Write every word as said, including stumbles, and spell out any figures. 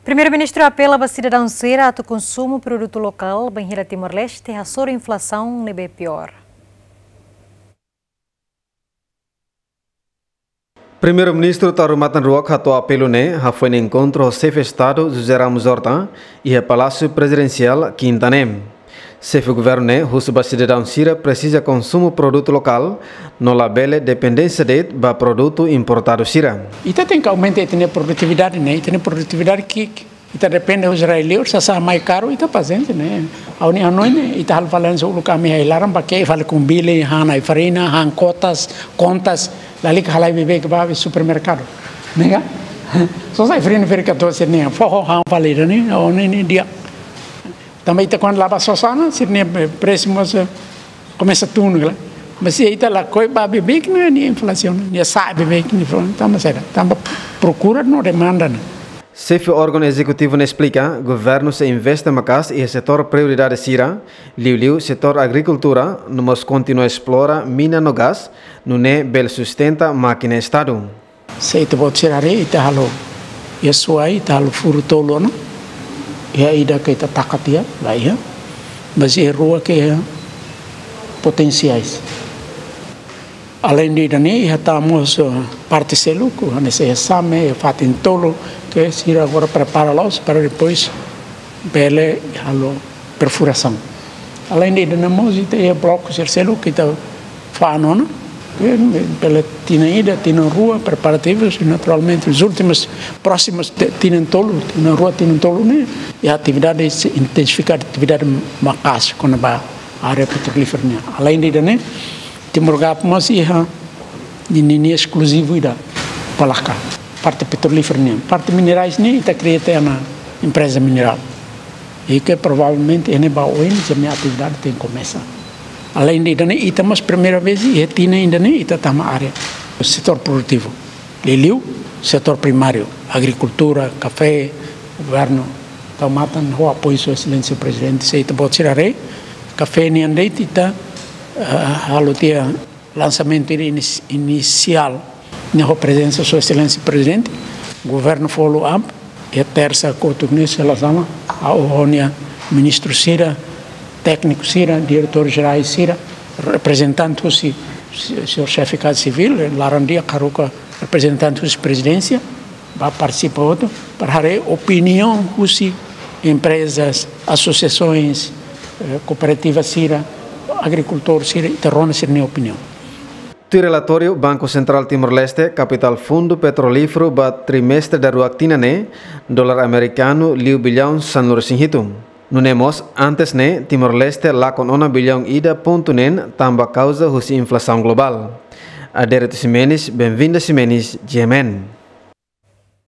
Primeiru-Ministru apela ba sidadaun sira atu konsumu produtu lokál, bainhira Timor-Leste hasoru inflasaun ne'ebé piór. Primeiru-Ministru Taur Matan Ruak hato'o apelu ne'e hafoin enkontru ho Xefe Estadu José Ramos Horta iha Palásiu Prezidensiál, Kinta ne'e. Xefe Governu ne'e husu ba sidadaun sira presiza konsumu produtu lokál, no labele dependénsia de'it ba produtu importadu sira. Ita tenke aumenta ita-nia produtividade ne'e, ita-nia produtividade ki'ik. Ita depende husi rai-liur, sasán mai karu, ita pasiénsia ne'e. Ha'u-nia hanoin ne'e, ita halo falánsia uluk ami iha ai-laran, ba ke fali kumbili, han ai-farina, han kotas, kontas, lalika halai beibeik ba iha supermerkadu. Ne'e ka? Só sai fali feri ka dosi ne'e, foho han fali ne'e, o ne'e ne'e di'ak. Tanba ita kuandu la'o ba sosa ona, sira-nia, eh, presu mós, eh, komesa tun, kala. Mas se ita lakohi ba beibeik ne'e, nia inflasaun, nia sa'e beibeik, nia inflasaun, tanba saida, tanba prokura no demanda ne'e. Xefe órgaun ezekutivu ne'e esplika, governu sei investe maka'as iha setór prioridade sira, liuliu setór agrikultura, no mós kontinua esplora mina no gás, nune'e bele sustenta mákina Estadu. Se ita-boot sira haree, ita halo iha Suai, ita halo furu tolu ona. Iha ida ke ita taka tiha, la iha. Mas iha rua ke iha potensiais. Além de ida-ne'e, iha tan mós, eh, parte seluk, hanesan iha Same, iha fatin tolu, ke sira agora prepara la'ós para depois bele halo perfurasaun. Além de ida-ne'e mós, ita iha bloku sira seluk ke ita fa'an ona, ke bele tinan ida, tinan rua, preparativus, i naturalmente, os últimos, próximos te-, tinan tolu, tinan rua, tinan tolu ne'e, iha atividade sei intensifika atividade maka'as, kona-ba área petrolífera nian. Além de ida-ne'e, Timor Gap mós iha ninia eskluzivu ida, Palaka, parte petrolífera nian. Parte minerais ne'e, ita kria tiha ona empreza minerál. I ke provavelmente iha ne'ebá oin sira-nia atividade tenke komesa. Além de ida-ne'e, ita mós primeira vez iha tinan ida-ne'e, ita tama área setór produtivu. Liuliu setór primáriu, agrikultura, kafé, governu Taur Matan ho apoiu Sua Exelénsia Prezidente, se ita-boot sira haree, kafé nian de'it ita, eh, halo tiha lansamentu ini-, inisiál, ne'e ho prezensa Sua Exelénsia Prezidente, governu follow up, iha tersa kotuk ne'e sei la sama, ha'u ho nia ministru sira, tékniku sira, diretór jerais sira, reprezentante husi, se-, señór Xefe Kaza Sivíl, laran di'ak haruka reprezentante husi prezidénsia, ba partisipa hotu, para haree opiniaun husi emprezas, asosiasoens, eh, kooperativa sira, agrikultór sira, ita rona sira-nia opiniaun. Tuir relatóriu Banku Sentrál Timor-Leste, kapitál fundu petrolíferu ba trimestre daruak tinan ne'e, dolar amerikanu liu billaun sanulu-resin-hitu. Nune'e mós, antes ne'e, Timor-Leste lakon ona billaun ida pontu neen tanba kauza husi inflasaun globál. Adérito Ximenes, Benvinda Ximenes, G M N.